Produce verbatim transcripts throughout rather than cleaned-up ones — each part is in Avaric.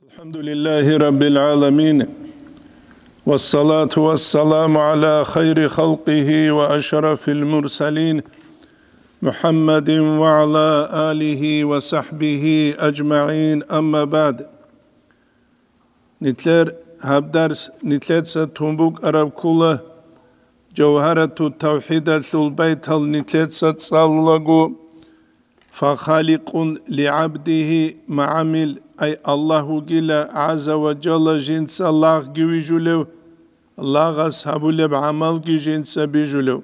الحمد لله رب العالمين، والصلاة والسلام على خير خلقه وأشرف المرسلين، محمد وعلى آله وصحبه أجمعين، أما بعد. Нилъер гьаб дарс нилъеца тун букӀараб ккола, Жавгьарату тавхӀидалъул байтал нилъеца цӀалулаго, «Фахаликъун лигӀабдигьи магӀамил», ай Аллагь вугила гӀазза ва жалла жинца лагъги вижулев, лагъас гьабулеб гӀамалги жинца бижулев,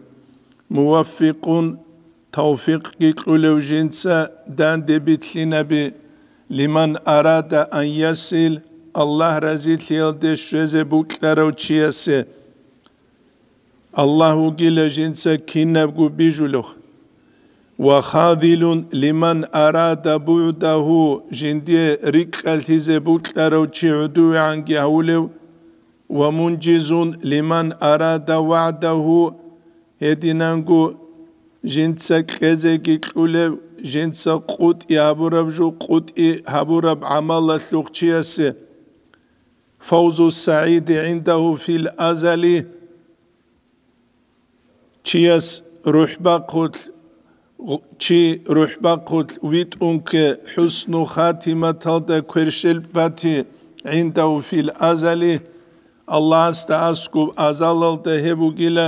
«муваффикъун», тавфикъги кьулев жинца данде билълъинаби, «лиман арада ан ясил», Аллагь разилъиялде щвезе букӀарав чиясе. Аллагь вугила жинца кинабго бижулев. «Ва хадилун лиман арада бугӀдагьу», жиндие рикӀкӀалъизе букӀарав чи гӀодовегӀанги гьавулев, «ва мунжизун лиман арада вагӀдагьу», гьединанго жинца кьезеги кьулев, жинца къутӀи гьабураб жо къутӀи гьабураб гӀамалалъухъ чиясе. «Фавзу сагӀиди гӀиндагьу фил азали», чияс рухӀбахъулъ, чи рухӀбахъулъ витӀун кке, хӀусну хатиматалда кверщел бати, гӀиндагьу фил азали, Аллагьасда аскӀуб азалалда гьеб бугила,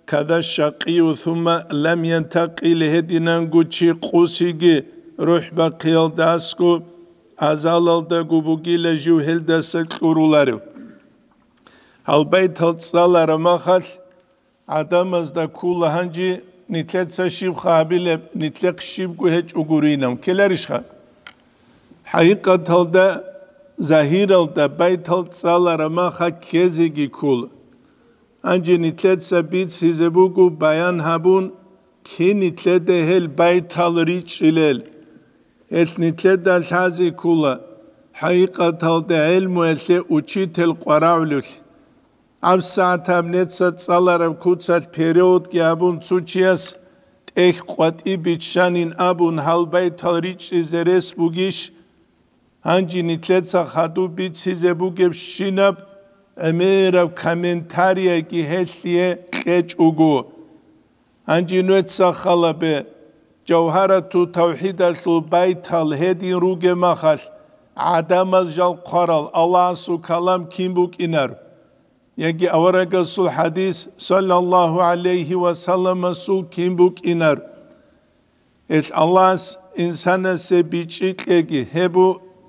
«када шакъию сумма лам янтакъил», гьединанго чи къусиги рухӀбахъиялда аскӀуб азалалдаго бугила жив гьелдаса кьуруларев. Гьал байтал цӀалараб махалъ гӀадамазда ккола гьанже нилъеца щибха гьабилеб, нилъехъ щибго гьечӀо гуринав, ккеларищха? ХӀакъикъаталда, загьиралда байтал цӀалараб маха ккезеги ккола. Гьанже нилъеца бицлъизе буго баян гьабун, кин нилъеда гьел байтал ричӀчӀилел. Гьелъ нилъеда лъазе ккола, хӀакъикъаталда гӀелмуялъе учитель къварагӀулевлъи. ГьабсагӀат гьаб неца цӀалараб куцалъ переводги гьабун цо чияс тӀехь къватӀи биччанин абун гьал байтал ричӀчӀизе рес бугищ? Гьанже нилъеца хадуб бицизе бугебщинаб гӀемераб комментарийги гьелъие кьечӀого. Гьанже нуеца халабе, Жавгьарату тавхӀидалъул байтал гьедин ругеб махалъ, гӀадамаз жал хъварал Аллагьасул калам кин букӀинар? Яги аварагасул хӀадис, саллаллагьу гӀалайгьи ва салламасул, кин букӀинар? Гьелъ Аллагьас инсанасе бичӀчӀи кьеги, гьеб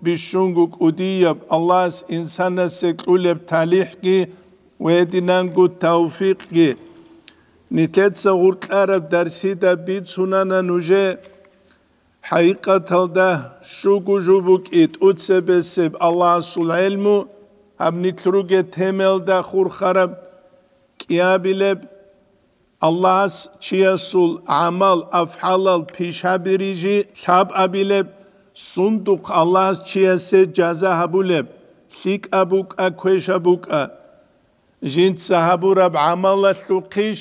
бищунго кӀудияб, Аллагьас инсанасе кьулеб талихӀги ва гьединанго тавфикъги. Нилъеца гъоркьараб дарсида бицунана нужее, хӀакъикъаталда щуго жо букӀи тӀоцебесеб Аллагьасул гӀелму, гьаб нилъ ругеб темаялда хурхараб кӀиабилеб, Аллагьас чиясул гӀамал, афгӀалал пишабири жи лъабабилеб, сундухъ Аллагьас чиясе жаза гьабулеб, лъикӀаб букӀа, квешаб букӀа, жинца гьабураб гӀамалалъухъищ,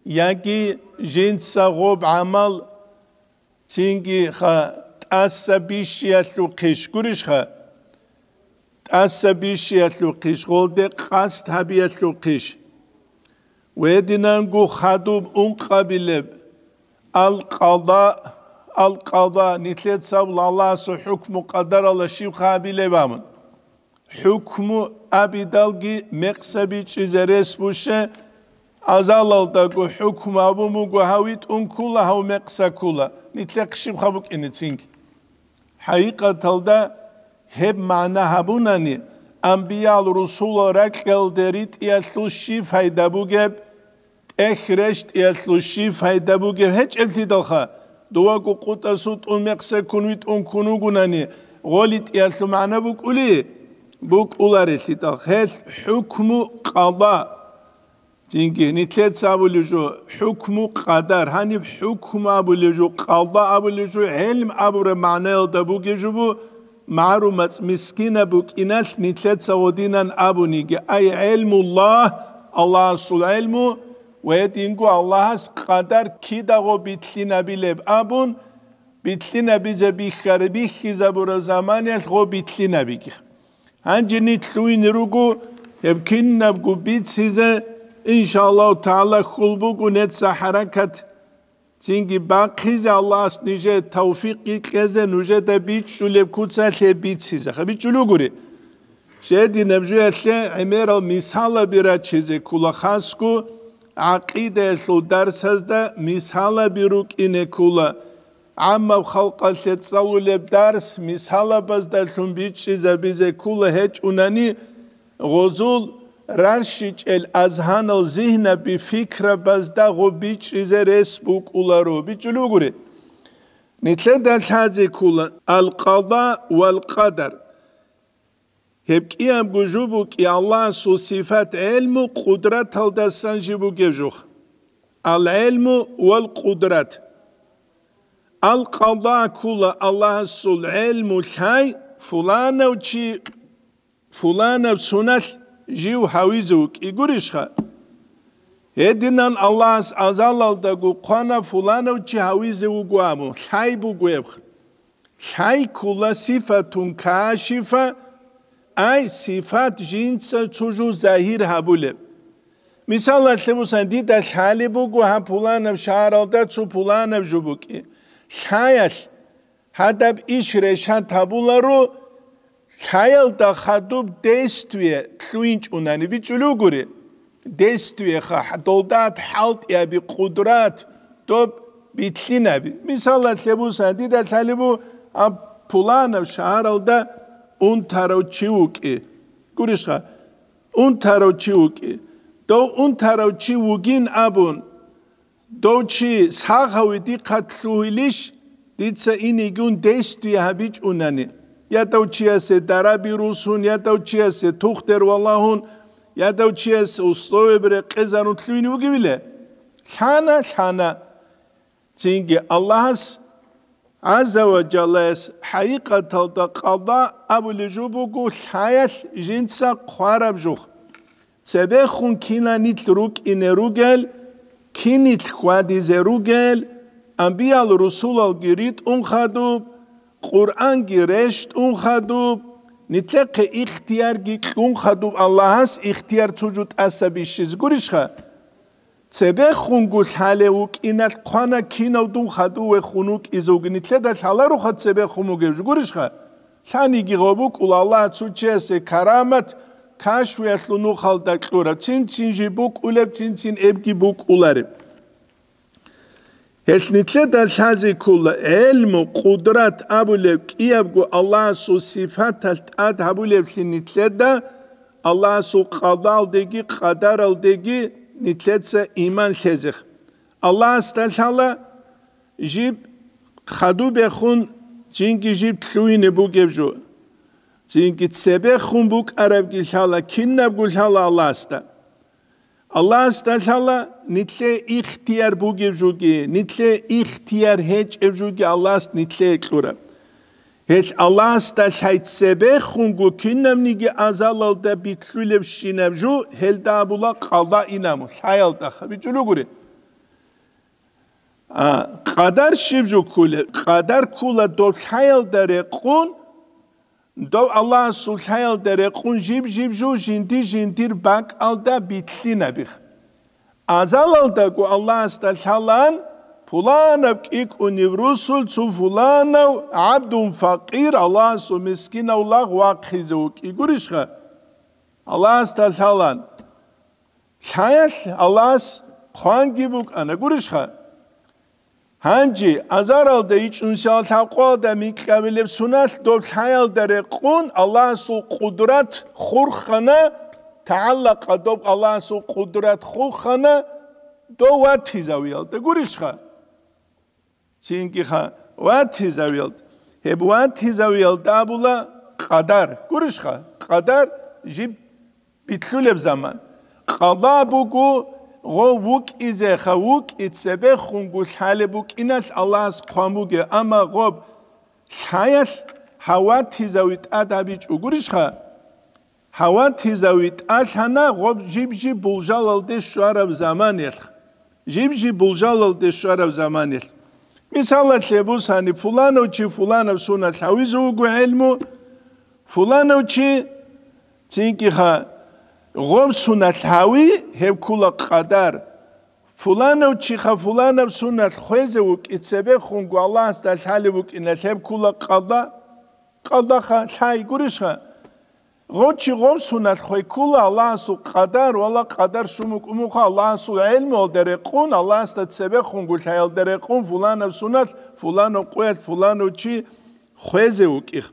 яги жинца гъоб гӀамал цинги ха тӀаса бищиялъухъищ, гурищха? ТӀаса бищиялъухъищ, гъолде къасд гьабиялъухъищ? Гьединанго хадуб ункъабилеб, ал-къада, ал-къада, нилъеца Аллагьасул хӀукму къадаралда щиб хабилеб абун. ХӀукму абидалги мекъса бичӀчӀизе рес бугищ, азалалдаго хӀукму абун буго, гьав витӀун ккола, гьав мекъса ккола, нилъехъ щибха букӀине цинги. ХӀакъикъаталда гьеб магӀна гьабунани, анбиял-русулал ракьалде ритӀиялъул щиб пайда бугеб? ТӀехь рещтӀиялъул щиб пайда бугеб гьечӀеблъидалха, дувагу къутӀасул тӀун мекъса ккун витӀун ккун вугунани, гъолитӀиялъул магӀна букӀули? БукӀуларелъидал. Гьелъ хӀукму къада. Цинги нилъеца абулеб жо хӀукму къадар, гьаниб хӀукму абулеб жо, къада абулеб жо, гӀелм абураб магӀнаялда бугеб жо бу, магӀару мацӀ мискинаб букӀиналъ нилъеца гъодинан абуниги, ай гӀелмуллагь, Аллагьасул гӀелму, ва гьединго Аллагьас къадар кидаго битлъинабилеб абун, битлъинабизе бихьар-, бихьизабураб заманиялъ гъо битлъинабиги. Гьанже нилъ лъугьине руго гьеб кинабго бицизе, иншааллагьу тагӀала, хьул буго нижеца хӀаракат цинги бахъизе Аллагьас нижее тавфикъги кьезе, нужеда бичӀчӀулеб куцалъе бицизе. Ха, бичӀчӀулев гури. Жединаб жуялъе гӀемерал мисалаби рачизе ккола, хасго гӀакъидаялъул дарсазда мисалаби рукӀине ккола. ГӀаммаб халкъалъе цӀалулеб дарс мисалабаздалъун бичӀчӀизабизе ккола, гьечӀунани гъозул рарщичӀел азгьанал зигьнаби, фикрабазда гъо бичӀчӀизе рес букӀуларо. БичӀчӀулев гури. Нилъеда лъазе ккола ал-къада вал-къадар. Гьеб кӀиябго жо букӀи Аллагьасул сифат гӀелму къудраталдасан жиб бугеб жух. Ал-гӀелму вал-къудрат. Ал-къада ккола Аллагьасул гӀелму лъай, фуланав чи, фуланаб суналъ жив гьавизе вукӀи гурищха? Гьединан Аллагьас азалалдаго хъвана фуланав чи гьавизе вуго абун, лъай буго гьеб. Лъай ккола сифатун кашифа, ай сифат жинца цо жо загьир гьабулеб. Мисалалъе бусан, дида лъалеб буго гьаб пуланаб шагьаралда цо пуланаб жо букӀи. Лъаялъ гьадаб иш решат гьабуларо, лъаялда хадуб действие лъугьинчӀунани бичӀчӀулев гури. Действиеха, долдат хӀалтӀиаби, къудрат, доб битлъинаби. Мисалалъе бусан, дида лъалеб бу, а, пуланаб шагьаралда унтарав чи вукӀи. Гурищха, унтарав чи вукӀи. Дов унтарав чи вугин абун, дов чи сагъави дихъа лъугьилищ, дица инигун действие гьабичӀунани, я дов чиясе дараби русун, я дов чиясе тухдер валагьун, я дов чиясе условияб рекъезарун лъугьине вугевила? Лъана, лъана. Цинги Аллагьас гӀазза ва жаллаяс хӀакъикъаталда къада абулеб жо буго лъаялъ жинца хъвараб жух. Цебехун кинанилъ рукӀине ругел, кинилъ хьвадизе ругел, анбиял-русулалги ритӀун хадуб, Къуръанги рещтӀун хадуб, нилъехъе ихтиярги кьун хадуб, Аллагьас ихтияр цо жо тӀаса бищизе гурищха? Цебехунго лъалев вукӀиналъ хъвана кинав дун хадув вехун вукӀизе вугин, нилъеда лъалароха цебехун вугев жо гурищха? Лъаниги гъо букӀула Аллагь цо чиясе карамат, кашфиялъул нухалда кьураб, цин-цин жиб букӀулеб, цин-цин эбги букӀулареб. Гьелъ нилъеда лъазе ккола, гӀелму, къудрат абулеб кӀиябго Аллагьасул сифаталъ тӀад гьабулеблъи нилъеда, Аллагьасул къадалдеги къадаралдеги нилъеца иман лъезех. Аллагьасда лъала жиб хадубехун, цинги жиб лъугьине бугеб жо. Цинги цебехун букӀарабги лъала, кинабго лъала Аллагьасда. Аллагьасда лъала нилъее ихтияр бугеб жуги, нилъее ихтияр гьечӀеб жуги Аллагьас нилъее кьураб. Гьелъ Аллагьасда лъай цебехунго кинабниги азалалда битлъулебщинаб жо гьелда абула къада инаму, лъаялда хабичӀулугури. А, къадар щиб жо ккула? Къадар ккула доб лъаялда рекъун, доб Аллагьасул лъаялда рекъун жиб-жиб жо жинди-жиндир бакӀалда битлъинабих. Азалалдаго Аллагьасда лъалаан, пуланаб кӀикӀунив русул цо пуланав гӀабдун факъир Аллагьасул мискинав лагъ вахъизе вукӀи гурищха? Аллагьасда лъалаан. Лъаялъ Аллагьас хъванги букӀана гурищха? Гьанже азаралда ичӀунсиял лъабкъоялда микьабилеб суналъ доб лъаялда рекъун Аллагьасул къудрат хурхана, тагӀаллакъа доб Аллагьасул къудрат хурхана дов ватизавиялда гурищха? Цинги ха, ватизавиялда. Гьеб ватизавиялда абула къадар. Гурищха? Къадар жиб битлъулеб заман. Къада буго гъо вукӀизе ха, вукӀи цебехунго лъалеб букӀиналъ Аллагьас хъван бугеб, амма гъоб лъаялъ гьав ватизави тӀад гьабичӀо гурищха? Гьав ватизави тӀалъана гъоб жиб-жиб булжалалде щвараб заманиялъ. Жиб-жиб булжалалде щвараб заманиялъ. Мисалалъе бусани, фуланав чи фуланаб суналъ гьавизе вуго гӀелму, фуланав чи Цинги-ха, гъоб суналъ гьави, гьеб ккула къадар. Фуланав чиха фуланаб суналъ хвезе вукӀи, цебехунго Аллагьасда лъалеб букӀиналъ, гьеб ккула къада. Къадаха лъай гурищха? Гъочи гъоб суналъ хвей ккула Аллагьасул къадар, вала къадар щун букӀумухъа Аллагьасул гӀелмуялда рекъун, Аллагьасда цебехунго лъаялда рекъун, фуланаб суналъ, фуланав къуялъ, фуланав чи хвезе вукӀих.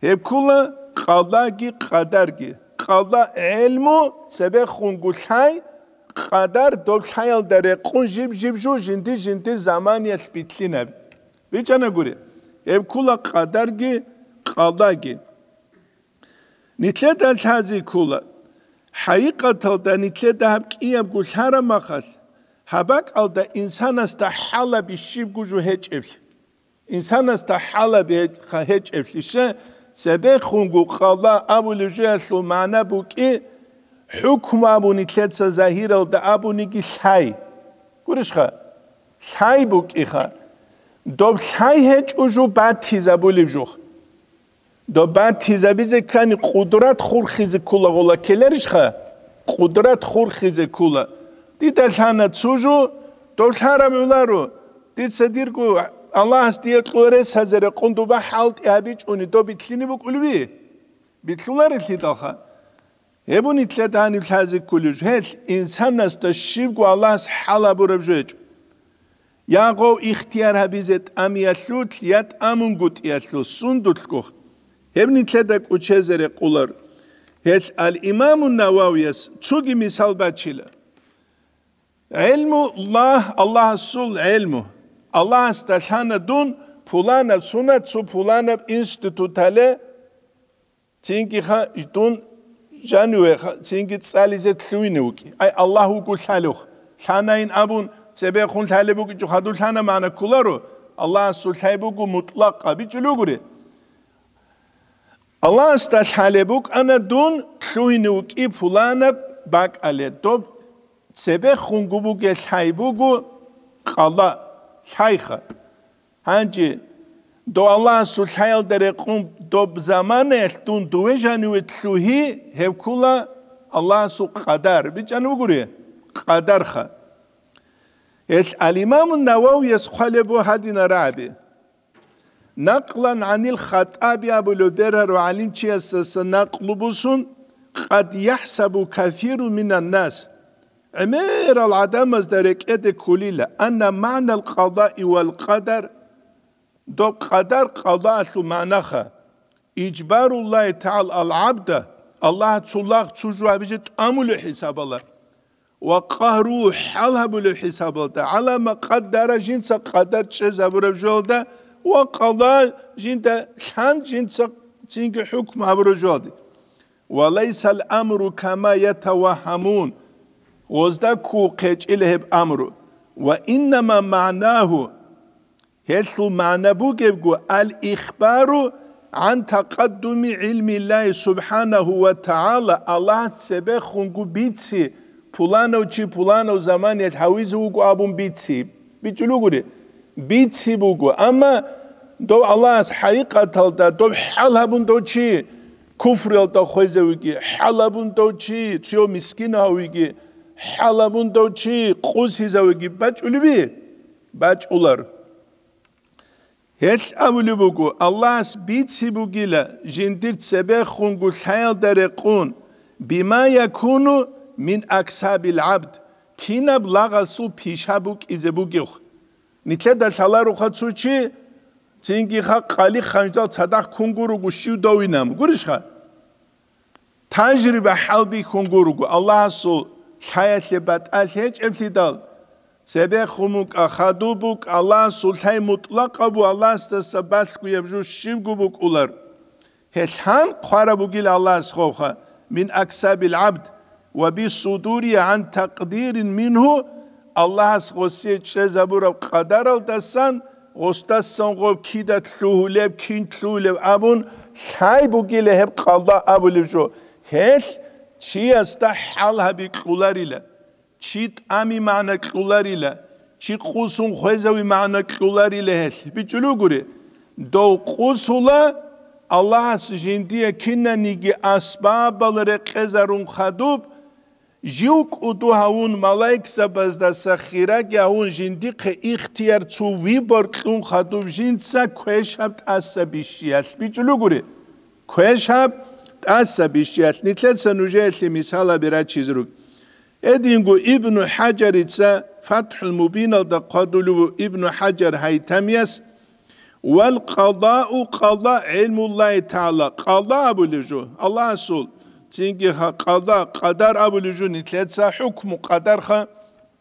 Гьеб ккула къадаги къадарги. Къада гӀелму цебехунго лъай, къадар доб лъаялда рекъун жиб-жиб жо жинди-жиндир заманиялъ битлъинаб. БичӀана гури, гьеб ккула къадарги къадаги. Нилъеда лъази ккула. ХӀакъикъаталда нилъеда гьаб кӀиябго лъараб махалъ, гьаб бакӀалда инсанасда хӀалаби щибго жо гьечӀеблъи. Инсанасда хӀалаби гьечӀеблъище, цебехунго къада абулев жоялъул магӀна букӀи, хӀукму абу нилъеца загьиралда абуниги лъай. Гурищха? Лъай букӀиха. Доб лъай гьечӀо жо батизабулев жух. Доб батизабизе ккани, къудрат хурхизе ккула гъола ккеларищха? Къудрат хурхизе ккула. Дида лъана цо жо, доб лъараб гӀоларо. Дица дирго Аллагьас дие кьурес гьазаре къундуба хӀалтӀи гьабичӀуни доб битлъине букӀулеби? Битлъуларелъидалха. Гьеб нилъеда гьаниб лъазе кколеб жо, гьелъ инсанасда щибго Аллагьас хӀал гьабураб жо гьечӀо. Я гъов ихтияр гьабизе тӀамиялъулъ я тӀамунгутӀиялъулъ сундулъго гьеб нилъеда кӀучезе рекъолар. Гьелъ ал-Имамун Нававияс цоги мисал бачила. ГӀелму Аллагь, Аллагьасул гӀелму. Аллагьасда лъана дун пуланаб сунат цо пуланаб институтале, цинги ха-, дун жаниве ха-, цинги цӀализе лъугьине вукӀи. Ай, Аллагь вуго лъалев. Лъанайин абун, цебехун лъалеб букӀичӀо хадур лъана магӀна кколаро, Аллагьасул лъай буго мутӀлакъа, бичӀулев гури. Аллагьасда лъалеб букӀана дун лъугьине вукӀи пуланаб бакӀале, доб цебехунго бугел лъай буго къала, лъайха. Гьанже дов Аллагьасул лъаялда рекъун доб заманаялъ дун дуве жаниве лъугьи, гьеб ккула Аллагьасул къадар. БичӀана бугури? Къадарха. Гьелъ ал-Имамун Нававияс хъвалеб буго гьадина рагӀаби. Накълан гӀанил Хаттаби абулев бергьарав гӀалимчиясдаса накълу бусун, къад яхӀсабу касирун минан нас, гӀемерал гӀадамазда рекӀеде кколила, анна магӀнал къадаи вал къадар, доб къадар къадаалъул магӀнаха, ижбаруллагьи тагӀала ал гӀабда, Аллагь цо лагъ цо жо гьабизе тӀамулев хӀисабала. Ва къагьру хӀал гьабулев хӀисабалда, гӀала ма къаддара жинца къадар чӀезабураб жоялда, ва къала жинда лъан жинца цинги хӀукму гьабураб жоялде. Ва лайсал амру кама ятавагьамун, гъозда кку хъечӀила гьеб амру, ва иннама магӀнагьу, гьелъул магӀна бугебго, ал-ихбару гӀан такъаддуми гӀилмиллагьи субхӀанагьу ва тагӀала, Аллагьас цебехунго бици, пуланав чи пуланав заманиялъ гьавизе вуго абун бици. БичӀулев гури? Бици буго. Амма дов Аллагьас хӀакъикъаталда доб хӀал гьабун дов чи куфруялда хвезавиги, хӀал гьабун дов чи цо мискин гьавиги, хӀал гьабун дов чи къусизавиги бачӀулеби? БачӀулар. Гьелъ абулеб буго, Аллагьас бици бугила жиндир цебехунго лъаялда рекъун, бима якуну мин аксабил гӀабд, кинаб лагъасул пиша букӀизе бугев. Нилъеда лъаларуха цо чи, цинги ха къали ханждал цадахъ ккун гуруго щив довинаб, гурищха? Тажриба хӀалбихьун гурого, Аллагьасул лъаялъе батӀалъи гьечӀеблъидал, цебехун букӀа, хадуб букӀа, Аллагьасул лъай мутӀлакъабу Аллагьасдаса балъгояб жо щибго букӀулар. Гьелъ гьан хъвараб бугил Аллагьас ховха, мин аксабил гӀабд, ва бисудури гӀан такъдирин мингьу, Аллагьас гъосие чӀезабураб къадаралдасан, гъосдасан гъоб кида лъугьулеб, кин лъугьулеб абун, лъай бугила гьеб къалда абулеб жо. Гьелъ чиясда хӀал гьаби кьуларила, чи тӀами магӀна кьуларила, чи къусун хвезави магӀна кьуларила гьелъ. БичӀулугури, дов къусула, Аллагьас жиндие кинаниги асбабал рекъезарун хадуб, жив кӀуду гьавун, малаикзабаздаса хираги гьавун, жиндихъе ихтияр цо выбор кьун хадуб жинца квешаб тӀаса бищиялъ бичӀулугури. Квешаб тӀаса бищиялъ нилъеца нужеялъе мисалаби рачизе руго. Гьединго Ибну ХӀажарица ФатхӀул Мубиналда хъвадулев ву Ибну ХӀажар Гьайтамияс, «Вал къадау къада гӀилмуллагьи тагӀала», къада абулев жо, Аллагьасул, цинги ха-, къада, къадар абулев жо, нилъеца хӀукму къадарха,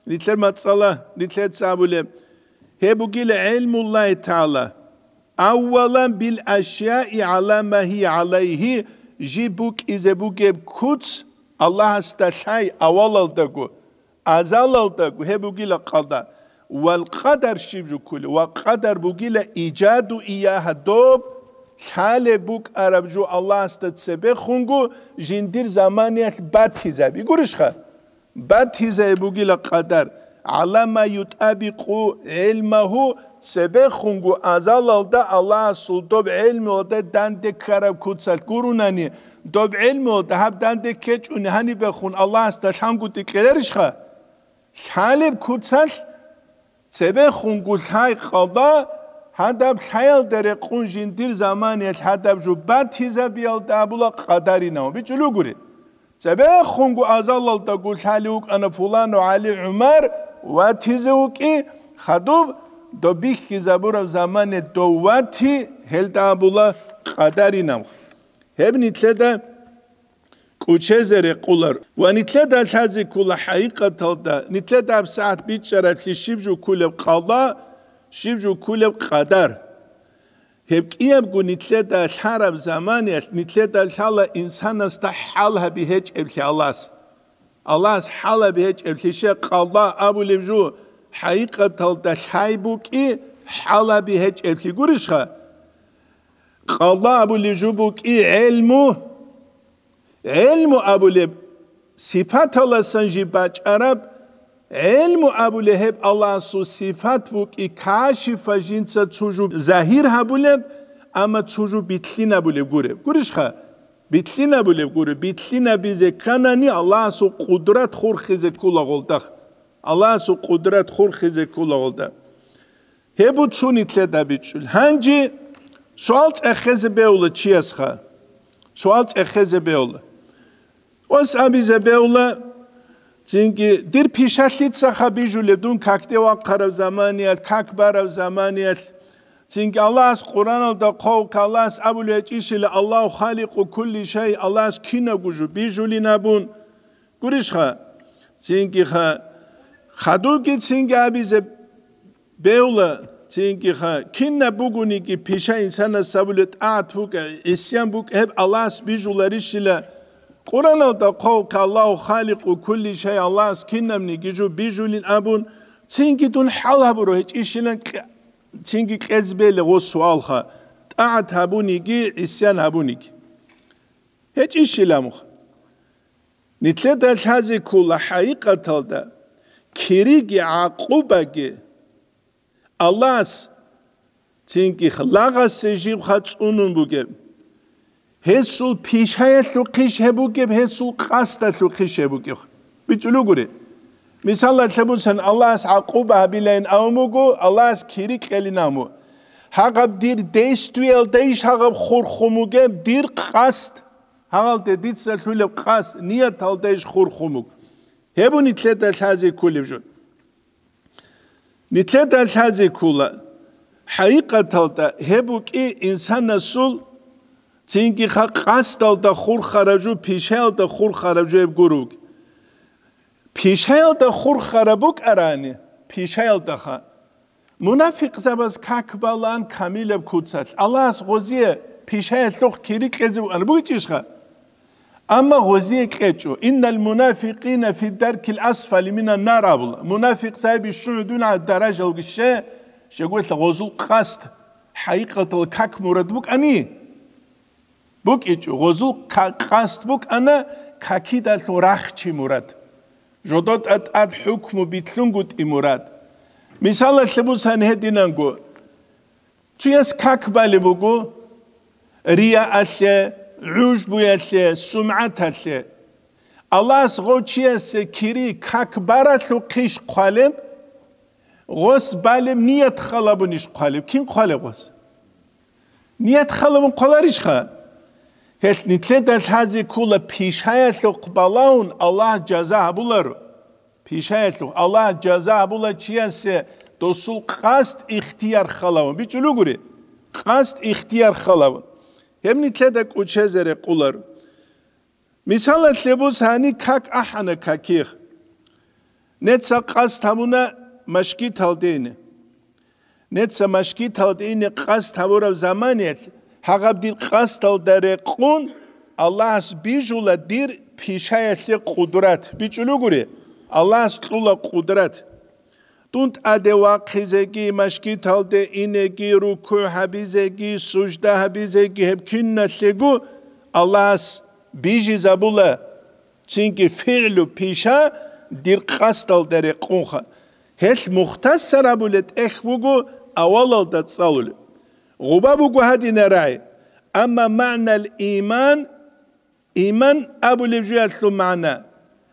нилъер мацӀала, нилъеца абулеб. Гьеб бугила гӀилмуллагьи тагӀала. Аввалан бил ашяи гӀала ма гьия гӀалайгьи, жиб букӀизе бугеб куц Аллагьасда лъай авалалдаго, азалалдаго, гьеб бугила къада. Вал къадар щиб жуккули? Ва къадар бугила ижаду иягьа, доб лъалеб букӀараб жо Аллагьасда цебехунго жиндир заманиялъ батизаби. Гурищха? Батизай бугила къадар, гӀала ма ютӀабикъу гӀилмагьу, цебехунго азалалда Аллагьасул доб гӀелмуялда данде ккараб куцалъ гурунани, доб гӀелмуялда гьаб данде ккечӀони гьанибехун Аллагьасда лъангутӀи кьеларищха? Лъалеб куцалъ цебехунго лъай къада, гьадаб лъаялда рекъун жиндир заманиялъ гьадаб жо батизабиялда абула къадаринав. БичӀулугури. Цебехунго азалалдаго лъалев вукӀана фулану ГӀали ГӀумар ватизе вукӀи, хадуб доб бихьизабураб замане дов вати, гьелда абула къадаринав. Гьеб нилъеда кӀучезе рекъулар. Ва нилъеда лъазе ккола хӀакъикъаталда, нилъеда гьабсагӀат бичӀчӀараблъи щиб жо кколеб къада, щиб жо кколеб къадар. Гьеб кӀиябго нилъеда лъараб заманиялъ нилъеда лъала инсанасда хӀал гьаби гьечӀеблъи Аллагьас. Аллагьас хӀал гьаби гьечӀеблъи, щай къада абулеб жо, хӀакъикъаталда лъай букӀи хӀал гьаби гьечӀеблъи гурищха? Къада абулеб жо букӀи гӀелму. ГӀелму абулеб сипаталасан жиб бачӀараб, гӀелму абулеб гьеб Аллагьасул сипат букӀи кашифа, жинца цо жо загьир гьабулеб, амма цо жо битлъинабулеб гуреб. Гурищха? Битлъинабулеб гуреб. Битлъинабизе кканани Аллагьасул къудрат хурхизе ккола гъолдах. Аллагьасул къудрат хурхизе ккола гъолда. Гьеб буцун нилъеда бичӀчӀул. Гьанже суал цӀехезе бегьула чиясха. Суал цӀехезе бегьула. Ос абизе бегьула, цинги, дир пишалъицаха бижулеб дун какде вахъараб заманиялъ, как бараб заманиялъ. Цинги Аллагьас Къуръаналда хъвав-, Аллагьас абулеб гьечӀищила: «Аллагьу халикъу кулли шай», Аллагьас кинабго жо бижулин абун. Гурищха? Цинги ха-, хадубги цинги абизе бегьула, цинги ха-, кинаб бугониги пиша инсанас абулеб тӀагӀат букӀа, гӀисян букӀа, гьеб Аллагьас бижуларищила. Къуръаналда хъвав-, «Аллагьу халикъу кулли шай», Аллагьас кинабниги жо бижулин абун, цинги дун хӀал гьабуро гьечӀищилан кье-, цинги кьезе бегьула гъо суалха, тӀагӀат гьабуниги, гӀисян гьабуниги. ГьечӀищила мух. Нилъеда лъазе ккола хӀакъикъаталда кириги гӀакъубаги Аллагьас цинги лагъасе жибха цӀунун бугеб. Гьесул пишаялъухъищ гьеб бугеб, гьесул къасдалъухъищ гьеб бугеб. БичӀулугури. Мисалалъе буцан, Аллагьас гӀакъуба гьабилайин авун буго, Аллагьас кири кьелин авун буго. Гьагъаб дир действиялдайищ гьагъаб хурхун бугеб, дир къасд? Гьалде дица лъулеб къасд, нияталда иш хурхун буго. Гьеб нилъеда лъазе кколеб жо. Нилъеда лъазе ккола. ХӀакъикъаталда гьеб букӀи инсанасул цинги ха-, къасдалда хурхараб жо, пишаялда хурхараб жо гьеб гуро буго. Пишаялда хурхараб букӀарани, пишаялдаха. Мунафикъзабаз как балан камилаб куцалъ, Аллагьас гъозие пишаялъухъ кири кьезе букӀана бугечӀищха? Амма гъозие кьечӀо: «Иннал мунафикъина фи даркил асфали минан нар», – абула. Мунафикъзаби щугӀудуна даражалги ще, щегоялъ гъозул къасд хӀакъикъатал как мурад букӀани? БукӀичӀо, гъозул ка-, къасд букӀана какидалъун рахчи мурад. Жодо тӀад-тӀад хӀукму битлъунгутӀи мурад. Мисалалъе бусан гьединанго, цуяс как балеб буго, Риаалъе, гӀужбуялъе, сумгӀаталъе. Аллагьас гъов чиясе кири как баралъухъищ хъвалеб? Гъос балеб ният халабунищ хъвалеб? Кин хъвалеб гъос? Ният халабун хъваларищха? Гьелъ нилъеда лъазе ккола пишаялъухъ балагьун Аллагь жаза гьабуларо. Пишаялъухъ Аллагь жаза гьабула чиясе досул къасд ихтияр халавун. БичӀулугури? Къасд ихтияр халавун. Гьеб нилъеда кӀучезе рекъулар. Мисалалъе бус гьани как ахӀана каких. Неца къасд гьабуна машгиталде ине. Неца машгиталде ине къасд гьабураб заманиялъ, гьагъаб дир къасдалда рекъун, Аллагьас бижула дир пишаялъе къудрат. БичӀулугури, Аллагьас кьула къудрат. Дун тӀаде вахъизеги, машгиталде инеги, рукугӀ гьабизеги, сужда гьабизеги, гьеб киналъего Аллагьас бижизабула. Цинги фигӀлу пиша дир къасдалда рекъунха. Гьелъ мухтасар абулеб тӀехь буго авалалда цӀалулеб. Гъуба буго гьадинарай, амма магӀнал иман, иман абулеб жоялъул магӀна,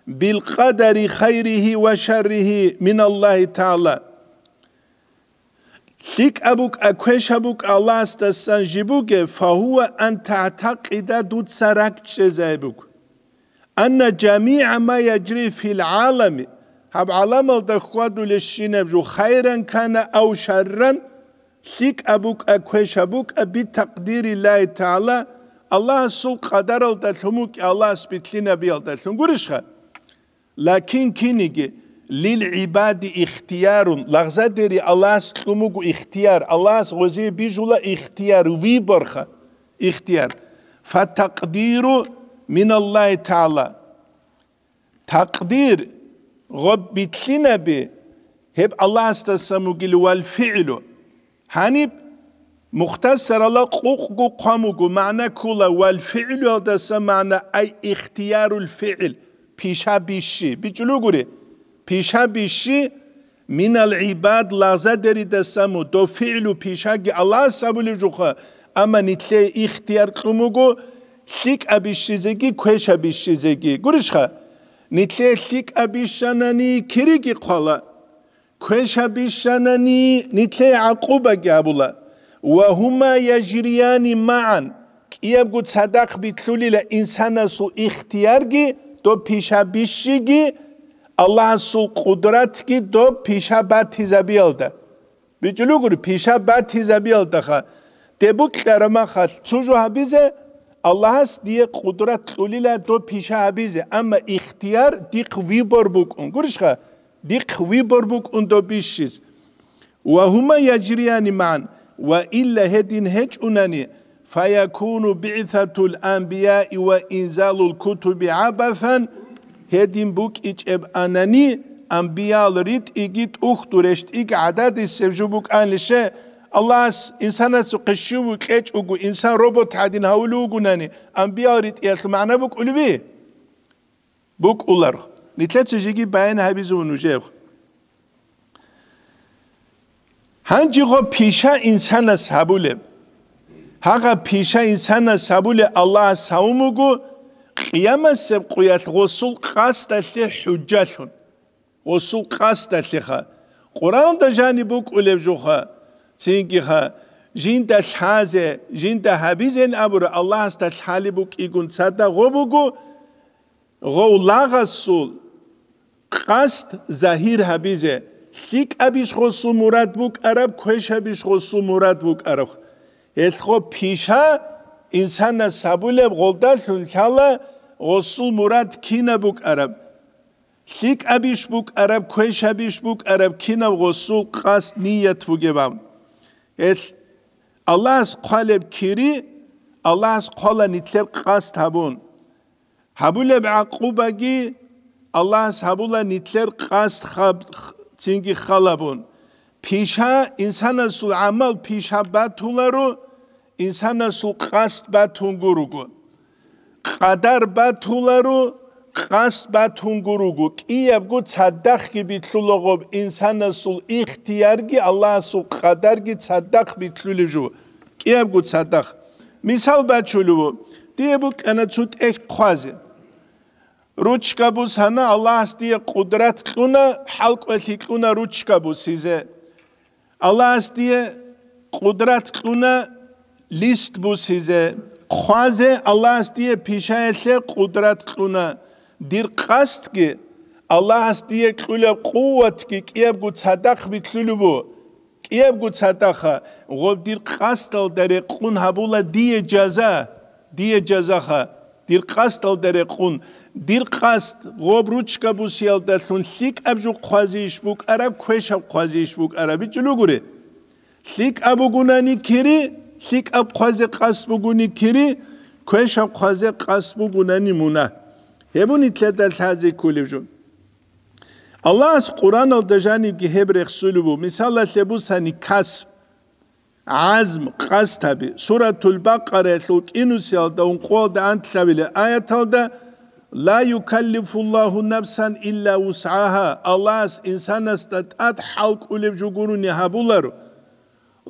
билкъадари хайрихи ва шаррихи миналлагьи тагӀала. ЛъикӀаб букӀа, квешаб букӀа Аллагьасдасан жиб бугеб, фагьуа ан тагӀтакъида дуца ракӀчӀезай буго. Анна жамигӀа ма яжри фил гӀалами, гьаб гӀаламалда хьвадулебщинаб жо хайран кана ав шарран, лъикӀаб букӀа, квешаб букӀа битакъдириллагьи тагӀала, Аллагьасул къадаралдалъун букӀа, Аллагьас билълъинабиялдалъун гурищха? Лакин киниги, лил гӀибади ихтиярун, лагъзадери Аллагьас кьун буго ихтияр, Аллагьас гъозие бижула ихтияр, выборха, ихтияр. Фатакъдиру миналлагьи тагӀала. Такъдир, гъоб билълъинаби, гьеб Аллагьасдасан бугил вал фигӀлу. Гьаниб мухтасарала къукъго хъван буго, магӀна ккола вал фигӀлуялдаса магӀна ай ихтиярул фигӀл, пиша бищи. БичӀулугури, пиша бищи минал гӀибад лагъзадеридаса му, дов фигӀлу пишаги Аллагьас абулев жуха, амма нилъее ихтияр кьун буго лъикӀаб бищизеги, квешаб бищизеги. Гурищха? Нилъее лъикӀаб бищанани кириги хъвала. Квешаб бищанани нилъее гӀакъубаги гьабула. Ва гьума яжрияни магӀан, кӀиябго цадахъ битлъулила инсанасул ихтиярги, доб пиша бищиги, Аллагьасул къудратги доб пиша батизабиялда. БичӀулугури, пиша батизабиялдаха. Деб букьарамахалъ цо жо гьабизе, Аллагьас дие къудрат кьулила доб пиша гьабизе, амма ихтияр дихъ выбор букӀун. Гурищха? Дихъ выбор букӀун доб бищиз. Ва гьума яжрияни магӀан, ва илла гьедин гьечӀунани, фаякуну биъсатул анбияи ва инзалул кутуби гӀабасан, гьедин букӀичӀеб анани, анбиял ритӀиги тӀухьду рещтӀиги гӀададисеб жо букӀанилъе, Аллагьас инсанасухъе щив кьечӀого, инсан робот гӀадин гьавулев вугунани, анбиял ритӀиялъул магӀна букӀулеби? БукӀулар. Нилъеца жеги баян гьабизавун нужер. Гьанже гъо пиша инсанас гьабулеб. Гьагъа пиша инсанас гьабулеб Аллагьас гьавун буго, къиямасеб къуялъ гъосул къасдалъе хӀужжалъун. Гъосул къасдалъеха. Къуръанда жаниб букӀулеб жуха, цингиха, жинда лъазе, жинда гьабизен абура Аллагьасда лъалеб букӀигун цадагъо буго, гъов лагъасул къасд загьир гьабизе, лъикӀабищ гъосул мурад букӀараб, квешабищ гъосул мурад букӀараб. Гьелъго пиша инсанас гьабулеб гъолдалъун лъала гъосул мурад кинаб букӀараб. ЛъикӀабищ букӀараб, квешабищ букӀараб, кинаб гъосул къасд ният бугеб аб. Гьелъ Аллагьас хъвалеб кири, Аллагьас хъвала нилъер къасд гьабун. Гьабулеб гӀакъубаги Аллагьас гьабула нилъер къасд хаб-, х-, цинги халабун. Пиша, инсанасул гӀамал пиша батуларо, инсанасул къасд батун гуруго. Къадар батуларо, къасд батун гуруго. КӀиябго цадахъги битлъулагъоб инсанасул ихтиярги Аллагьасул къадарги цадахъ битлъулев жо. КӀиябго цадахъ. Мисал бачулев ву, дие букӀана цо тӀехь хъвазе. Ручка бусана, Аллагьас дие къудрат кьуна, хӀалкӀолъи кьуна ручка бусизе. Аллагьас дие къудрат кьуна лист бусизе. Хъвазе Аллагьас дие пишаялъе къудрат кьуна. Дир къасдги, Аллагьас дие кьулеб къуватги кӀиябго цадахъ битлъулеб бу. КӀиябго цадахъа, гъоб дир къасдалда рекъун гьабула дие жаза, дие жазаха, дир къасдалда рекъун, дир къасд гъоб ручка бусиялдалъун лъикӀаб жо хъвазейищ букӀараб, квешаб хъвазейищ букӀараб, бичӀчӀулугури. ЛъикӀаб бугунани кири, лъикӀаб хъвазе къасд бугуни кири, квешаб хъвазе къасд бугунани мунагь. Гьеб нилъеда лъазе кколеб жо. Аллагьас Къуръаналда жанибги гьеб рехсулеб бу. Мисалалъе бусани касб, гӀазм, къасд гьаби. Суратул Бакъараялъул кӀинусиялда ункъоялда анлъабилеб аяталда: «Ла юкаллифуллагьу нафсан илла вусгӀагьа», Аллагьас инсанасда тӀад хӀалкӀулеб жо гурони гьабуларо.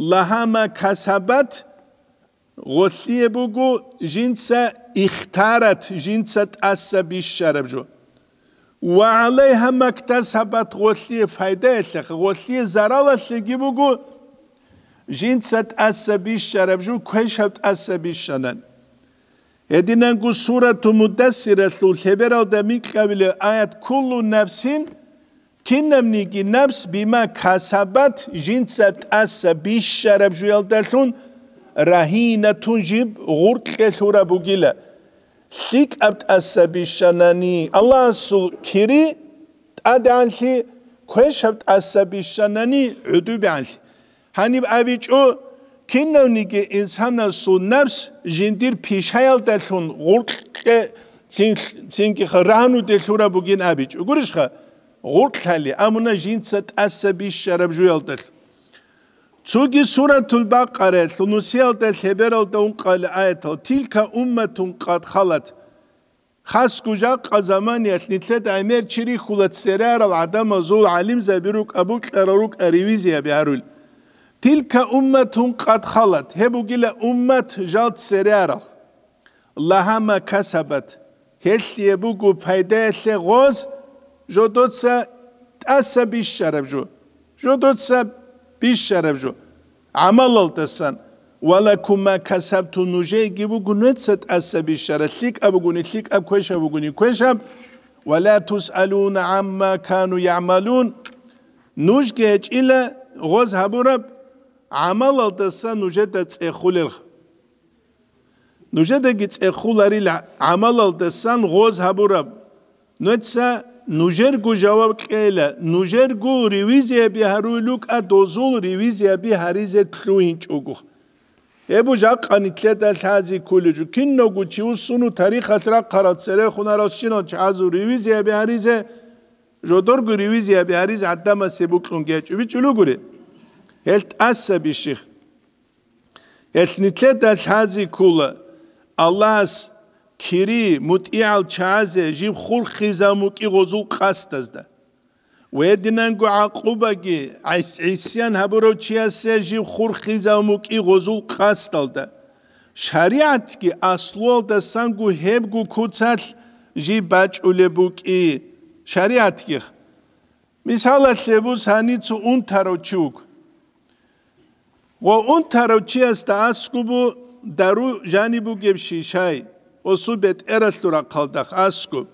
«Лагьа ма касабат», гъолъие буго жинца ихтарат, жинца тӀаса бищараб жо. «Ва гӀалайгьа мактасабат», гъолъие файдаялъеха, гъолъие заралалъеги буго жинца тӀаса бищараб жо, квешаб тӀаса бищанан. Гьединанго Сурату Муддассиралъул лъебералда микьабилеб аят: «Куллу нафсин», кинабниги напс, «бима касабат», жинца тӀаса бищараб жуялдалъун, «рагьинатун», жиб гъуркье лъураб бугила. ЛъикӀаб тӀаса бищанани Аллагьасул кири тӀадегӀанлъи, квешаб тӀаса бищанани гӀодобегӀанлъи. Гьаниб абичӀо, кинавниги инсанасул напс жиндир пишаялдалъун гъуркье цин-, цинги ха-, рагьнуде лъураб бугин абичӀо. Гурищха? Гъуркьали, амуна жинца тӀаса бищараб жуялдалъ. Цоги Суратул Бакъараялъул нусиялда лъебералда ункъали аятал: «Тилка умматун къад халат». Хасго жакъа заманиялъ нилъеда гӀемер чи рихьула церарал гӀадамазул гӀалимзаби рукӀа, букьарал рукӀа ревизияби гьарул. «Тилка умматун къад халат», гьеб бугила уммат жал церарал. «Лагьа ма касабат», гьелъие буго пайдаялъе гъоз, жодоца тӀаса бищараб жо. Жодоца бищараб жо. ГӀамалалдасан. «Ва лакум ма касабтум», нужееги буго нуца тӀаса бищараб, лъикӀаб бугони лъикӀаб, квешаб бугони квешаб. «Ва ла тусъалуна гӀамма кану ягӀмалун». Нужги гьечӀила гъоз гьабураб гӀамалалдаса нужеда цӀехулелха. Нужедаги цӀехуларила гӀамалалдасан гъоз гьабураб. Нуца нужерго жаваб кьейила, нужерго ревизияби гьаруй лукӀа, дозул ревизияби гьаризе лъугьинчӀого. Гьеб жакъа нилъеда лъази кколеб жо, кинавго чи вуссуну тарихалъ рахъарал церехунарал щинал чагӀазул ревизияби гьаризе, жодорго ревизияби гьаризе гӀадамасе бокьун гьечӀо, бичӀчӀулугури. Гьел тӀаса бищих. Гьелъ нилъеда лъази ккола Аллагьас кири мутӀигӀал чагӀазе жиб хурхизаб мукӀи гъозул къасдазда. Ва гьединанго гӀакъубаги гӀис-, гӀисян гьабурав чиясе жиб хурхизаб мукӀи гъозул къасдалда. ШаригӀатги аслуялдасанго гьебго куцалъ жиб бачӀулеб букӀи. ШаригӀатги. Мисалалъе бусани цо унтарав чи вуго. Ва унтарав чиясда аскӀубу дару жаниб бугеб шишай, осу бетӀералъул рахъалдахъ аскӀуб.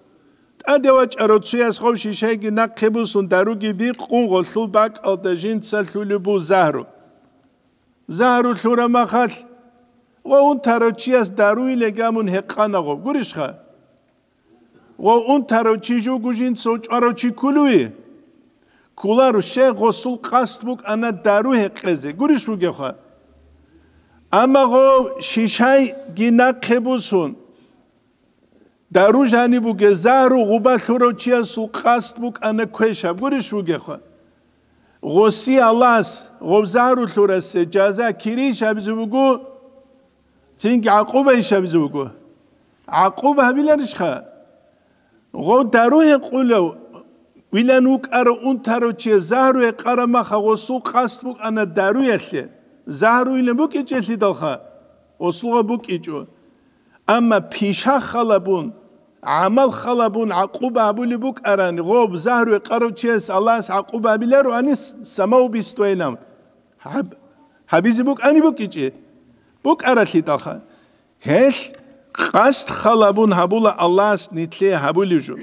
ТӀаде вачӀарав цуяс гъов шишайги нахъе бусун даруги бикъун гъолъул бакӀалда жинца лъулеб бу загьру. Загьру лъура махалъ, ва унтарав чияс даруйилан гьамун гьекъана гъов. Гурищха? Ва унтарав чи жуго жинца учӀарав чи кколуи? Кколаро, щай гъосул къасд букӀана дару гьекъезе, гурищ вугевха? Амма гъов шишайги нахъе бусун, дару жаниб бугеб загьру гъуба лъурав чиясул къасд букӀана квешаб, гурищ вугевха? Гъоси Аллагьас гъов загьру лъурасе жаза кирийищ абизе буго, цинги гӀакъуба иш абизе буго? ГӀакъуба гьабиларищха? Гъов дару гьекъулев вилан вукӀарав унтарав чи загьру гьекъараб маха гъосул къасд букӀана даруялъе, загьру вилан букӀичӀелъидалха. гъосулгъа букӀичӀо. Амма пиша халабун, гӀамал халабун гӀакъуба гьабулеб букӀарани, гъоб загьру гьекъарав чияс Аллагьас гӀакъуба гьабиларо анис самаубийствайилан гьаб-, гьабизе букӀани букӀичӀи, букӀаралъидалха. Гьелъ къасд халабун гьабула Аллагьас нилъее гьабулев жо.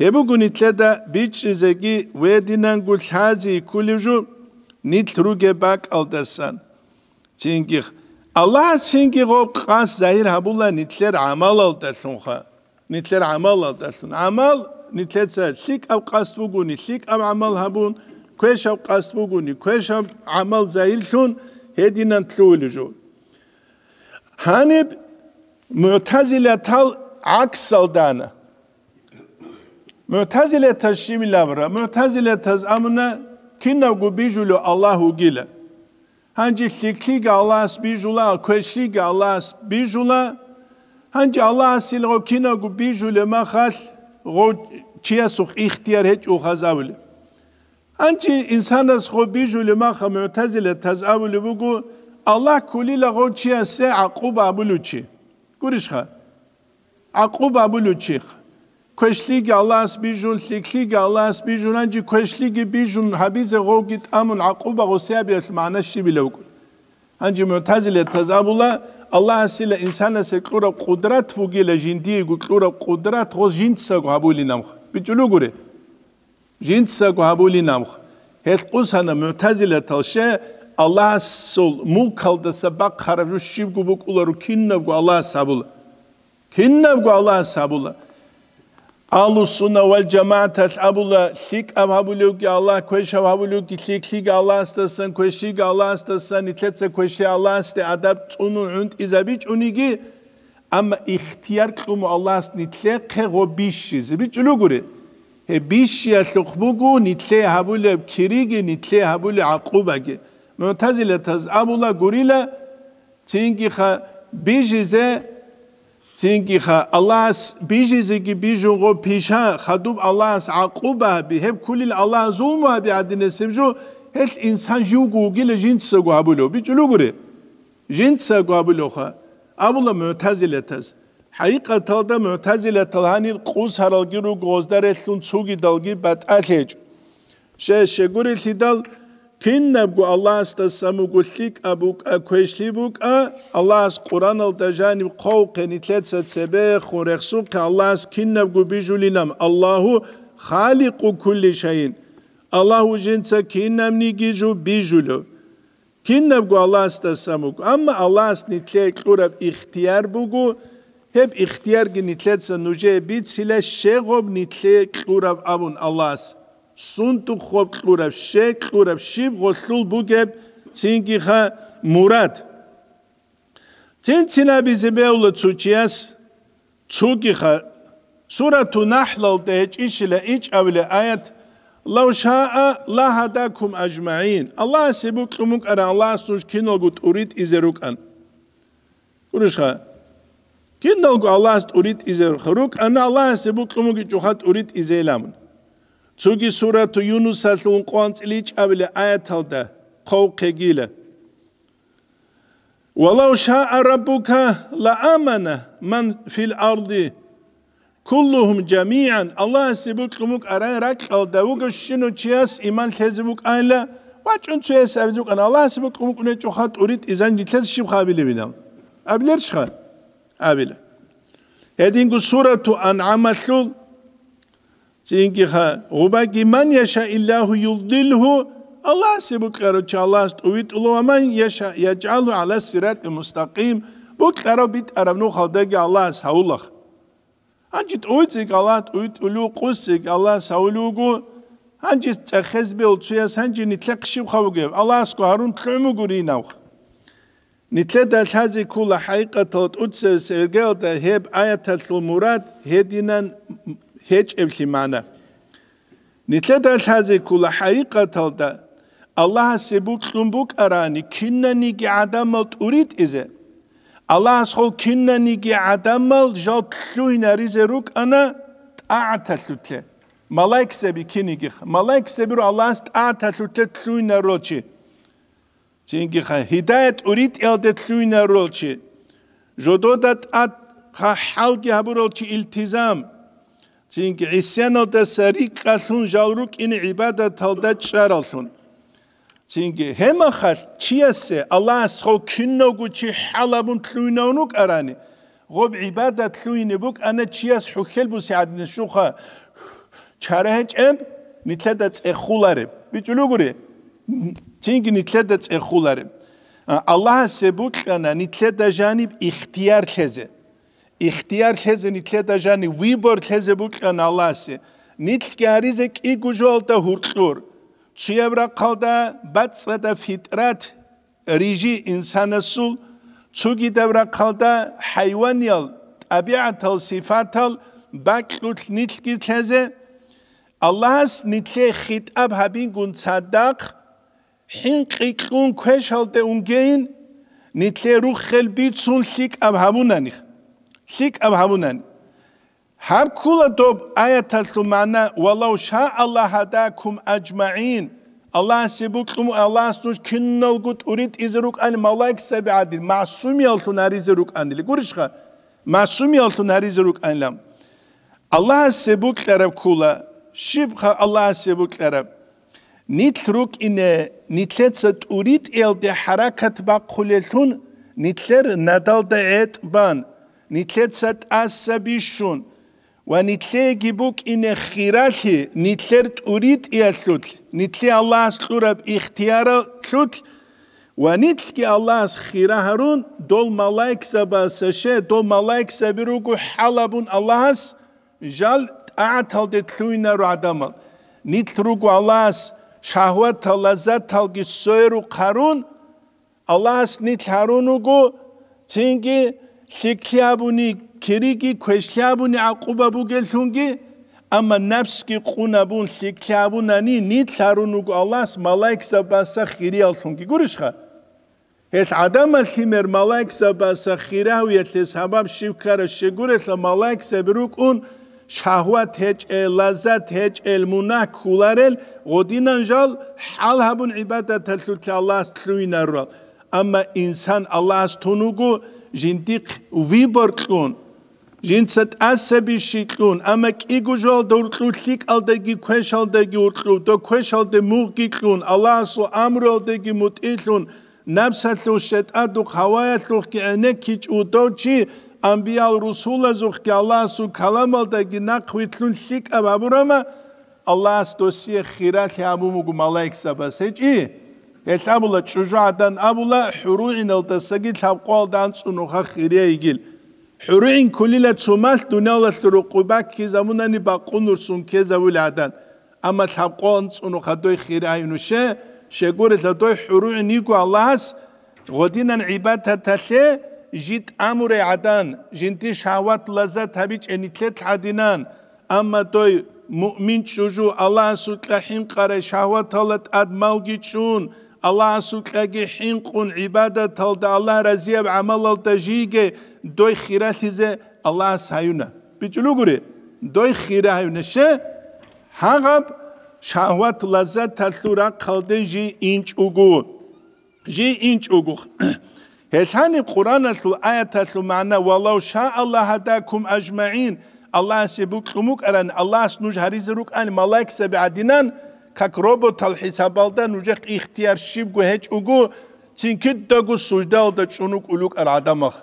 Гьеб буго нилъеда бичӀчӀизеги ва гьединанго лъази кколев жо нилъ ругеб бакӀалдасан. Цинги х-, Аллагьас цинги гъоб къасд загьир гьабула нилъер гӀамалалдалъунха. Нилъер гӀамалалдалъун. ГӀамал нилъеца лъикӀаб къасд бугони, лъикӀаб гӀамал гьабун, квешаб къасд бугони, квешаб гӀамал загьирлъун гьединан лъугьулев жо. Гьаниб мугӀтазилатал гӀаксалдана. МугӀтазилатаз щибилабра? МугӀтазилатаз амуна, кинабго бижулев Аллагь вугила. Гьанже лъикӀлъиги Аллагьас бижула, квешлъиги Аллагьас бижула. Гьанже Аллагьасил гъо кинабго бижулеб махалъ, гъо чиясухъ ихтияр гьечӀо хазавулеб. Гьанже инсанас гъо бижулеб маха мугӀтазилатаз абулеб буго, Аллагь кколила гъо чиясе гӀакъуба абулев чи. Гурищха? ГӀакъуба абулев чих. Квешлъиги Аллагьас бижун, лъикӀлъиги Аллагьас бижун, гьанже квешлъиги бижун гьабизе гъовги тӀамун гӀакъуба гъосиябиялъ магӀна щибила вукӀун. Гьанже мугӀтазилатаз абула, Аллагьасила инсанасе кьураб къудрат бугила, жиндиего кьураб къудрат гъос жинцаго гьабулин амха. БичӀулугури? Жинцаго гьабулин амха. Гьелъ къусана мугӀтазилатал ще Аллагьасул мулкалдаса бахъараб жо щибго букӀуларо кинабго Аллагьас гьабула. Кинабго Аллагьас гьабула. Агьлу-сунна вал жамагӀаталъ абула, лъикӀаб гьабулевги Аллагь, квешаб гьабулевги лъикӀлъиги Аллагьасдасан, квешлъиги Аллагьасдасан, нилъеца квешлъи Аллагьасде адаб цӀунун гӀунтӀизабичӀониги, амма ихтияр кьуму Аллагьас нилъехъе гъо бищизе. БичӀулугури? Гьеб бищиялъухъ буго нилъее гьабулеб кириги, нилъее гьабулеб гӀакъубаги. МугӀтазилатаз абула гурила, Цинги-ха бижизе, цинги-ха Аллагьас бижизеги бижун гъо пиша, хадуб Аллагьас гӀакъуба гьаби, гьеб кколил Аллагь зулму гьаби гӀадинасеб жо, гьелъ инсан живго вугила жинцаго гьабулев. БичӀулугури? Жинцаго гьабулевха, абула мугӀтазилатаз. ХӀакъикъаталда мугӀтазилатал гьанир къусаралги руго, гъозда релълъун цогидалги батӀалъи гьечӀо. Ще-, щегурелъидал, кинабго Аллагьасдасан буго лъикӀаб букӀа, квешлъи букӀа, Аллагьас Къураналда жаниб хъовхъе нилъеца цебехун рехсухъе Аллагьас кинабго бижулинам, Аллагьу халикъу кулли шайин. Аллагь вужинца кинабниги жо бижулев. Кинабго Аллагьасдасан буго, амма Аллагьас нилъее кьураб ихтияр буго, гьеб ихтиярги нилъеца нужее бицила, щегъоб нилъее кьураб абун Аллагьас. Сунтухъ гъоб кьураб, щей кьураб, щиб гъолъул бугеб, цинги-ха мурад. Цин-цинабизе бегьула цо чияс, цогиха, Сурату Нахлалда гьечӀищила ичӀабилеб аят, «Лав шаа ла гьадакум ажмагӀин», Аллагьасе букьун букӀаран Аллагьас нуж киналго тӀуритӀизе рукӀан. Гурищха? Киналго Аллагьас тӀуритӀизе рукъана, Аллагьасе букьун бугичӀоха тӀуритӀизейилан. Цоги Сурату Юнусалъул ункъо анцӀила ичӀабилеб аяталда хъовхъегила. «Валав шаа раббука ла амана ман фил арди куллухум жамигӀан», Аллагьасе букьун букӀарай ракьалда вуго щинав чияс иман лъезе букӀайла, вачӀун цояс абизе букӀана, Аллагьасе букьун букӀунечӀоха тӀуритӀизан нилъеца щиб хабилеб инал? Абилерищха? Абила. Гьединго Сурату АнгӀамалъул, цинги-ха, гъубаги, «Ман яша Иллагьу юддилгьу», Аллагьасе букьарав чи Аллагьас тӀувитӀула, «ва ман яша яджгӀалгьу гӀала сиратӀи мустакъим», букьарав битӀараб нухалдаги Аллагьас гьавулах. Гьанже тӀуйцӀиг Аллагь тӀуйтӀулев, къусцӀиг Аллагь савулев вуго, гьанже цӀехез бев цуяс гьанже нилъехъ щибха бугеб? Аллагьасго гьарун лъугӀун бугуринавх. Нилъеда лъазе ккола хӀакъикъатал тӀуцеве сергеялда гьеб аяталъул мурад гьединан гьечӀеблъи магӀна. Нилъеда лъазе ккола хӀакъикъаталда Аллагьасе букьун букӀарани кинаниги гӀадамал тӀуритӀизе. Аллагьас хол кинаниги гӀадамал жал лъугьинаризе рукӀана тӀагӀаталъулъе. Малаикзаби кинигиха. Малаикзабиру Аллагьас тӀагӀаталъулъе лъугьинарулчи. Цинги ха гьидаят тӀуритӀиялде лъугьинарурал чи, жодода тӀад ха хӀалги гьабурал чи илтизам, цинги гӀисяналдаса рикӀкӀалъун жал рукӀине гӀибадаталда чӀараллъун. Цинги гьеб мехалъ чиясе Аллагьас гъов кинавго чи хӀал гьабун лъугьинавун вукӀарани, гъоб гӀибадат лъугьине букӀана чияс хӀухьел буси гӀадинас щуха чара гьечӀеб, нилъеда цӀехулареб. БичӀулугури, цинги нилъеда цӀехулареб. А, Аллагьасе букьана нилъеда жаниб ихтияр лъезе. Ихтияр лъезе нилъеда жаниб, выбор лъезе букьана Аллагьасе. Нилъги гьаризе кӀиго жоялда гьуркьур. Цояб рахъалда бацӀцӀадаб фитрат, рижи инсанасул, цогидаб рахъалда хӀайваниял тӀабигӀатал сифатал бакьулъ нилъги лъезе, Аллагьас нилъее хитӀаб гьабингун цадахъ, хӀинкъи кьун квешалде унгейин, нилъее руххел бицун лъикӀаб гьабунани. ЛъикӀаб гьабунани. Гьаб ккула доб аяталъул магӀна: «Валав шаа Аллагь гьадакум аджмагӀин». Аллагьасе букьун, Аллагьас нуж киналго тӀуритӀизе рукӀани малаикзаби гӀадин, масумияллъун гьаризе рукӀанили. Гурищха? Масумияллъун гьаризе рукӀанилан. Аллагьасе букьараб ккула. Щибха Аллагьасе букьараб? Нилъ рукӀине, нилъеца тӀуритӀиялде хӀаракат бахъулелъун, нилъер надалда гӀетӀ бан, нилъеца тӀаса бищун ва нилъееги букӀине хиралъи нилъер тӀуритӀиялъулъ, нилъе Аллагьас кьураб ихтияралъулъ ва нилъги Аллагьас хира гьарун, дол малаикзабасе, дол малаикзаби руго хӀал гьабун Аллагьас, жал тӀагӀаталде лъугьинаро гӀадамал. Нилъ руго Аллагьас шагьватал, лаззаталги сверухъ гьарун, Аллагьас нилъ гьарун руго, цинги лъикӀлъи абуни кириги, квешлъи абуни гӀакъуба бугеллъунги, амма напсги къун абун лъикӀлъи абунани, нилъ гьарун руго Аллагьас малаикзабаса хирияллъунги. Гурищха? Гьел гӀадамал лъимер малаикзабаса хирагьуялъе сабаб щиб ккараб щегурелъа, малаикзаби рукӀун, шагьват гьечӀел, лаззат гьечӀел, мунагь кколарел, гъодинан жал хӀал гьабун гӀибадаталъулъ Аллагьас лъугьинарурал. Амма инсан Аллагьас тун вуго жиндихъ выбор кьун, жинца тӀаса бищи кьун, амма кӀиго жоялда гьуркьур лъикӀалдаги квешалдаги гьуркьур, дов квешалде мугъги кьун, Аллагьасул амруялдеги мутӀигьлъун, напсалъул, шайтӀадухъ, гьаваялъухъги гӀенеккичӀев дов чи, анбиял-русулазухъги Аллагьасул каламалдаги нахъвилълъун лъикӀаб гьабурама, Аллагьас досие хиралъи гьабун буго малаикзабаз. ГьечӀи? Гьелъ абула, чӀужугӀадан абула, хӀуругӀиналдасаги лъабкъоялда анцӀунуха хирияб йигил. ХӀуругӀин кколила цо малъ, дуниялалъул рокъоб баккизабунани бакъунурсун ккезавули гӀадан. Амма лъабкъо анцӀунуха дой хирагьай нуше, щегорелъа дой хӀуругӀин йиго Аллагьас гъодинан гӀибадаталъе жи тӀамурай гӀадан, жинди шагьват-лаззат гьабичӀеб нилъелъ гӀадинан. Амма дой муъмин чӀужу Аллагьасукьа хӀинкъарай шагьваталда тӀад малги чӀун, Аллагьасукьаги хӀинкъун гӀибадаталда, Аллагь разияб гӀамалалда жийги дой хиралъизе Аллагьас гьаюна. БичӀулугури, дой хира гьаюна. Ще? Гьагъаб шагьват-лаззаталъул рахъалде жий инчӀого. Жий инчӀого. Гьелъани Къуръаналъул аяталъул магӀна: «Валав шаа Аллагь гьадакум аджмагӀин», Аллагьасе букьун букӀаран, Аллагьас нуж гьаризе рукӀан малаикзаби гӀадинан, как роботал хӀисабалда нужехъ ихтияр щибго гьечӀого, цин кидаго суждаялда чӀун вукӀун вукӀар гӀадамал.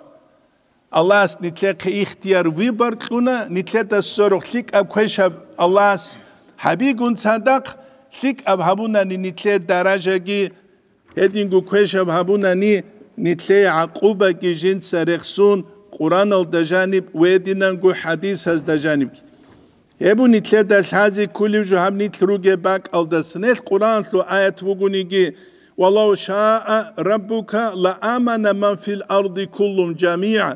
Аллагьас нилъехъе ихтияр, выбор кьуна, нилъеда сверухъ лъикӀаб квешаб Аллагьас гьабигун цадахъ, лъикӀаб гьабунани нилъее даражаги, гьединго квешаб гьабунани нилъее гӀакъубаги жинца рехсун, Къуръаналда жаниб ва гьединанго хӀадисазда жаниб. Гьеб нилъеда лъазе кколеб жо гьаб нилъ ругеб бакӀалдаса. Нилъ Къуръаналъул аят вугониги: «Валав шаа раббука ла амана ман фил арди куллум жамигӀа».